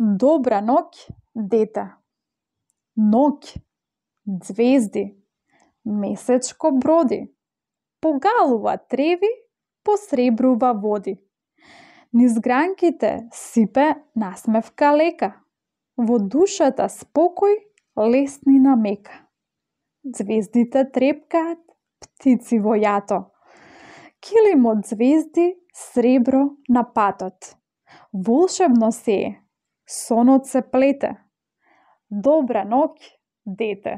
Добра ноќ, дете. Ноќ, ѕвезди, месечко броди, погалува треви, посребрува води. Низ гранките сипе насмевка лека, во душата спокој, леснина мека. Ѕвездите трепкаат, птици во јато, килим од ѕвезди сребро на патот. Волшебно се е, сонот се плете. Добра ноќ, дете.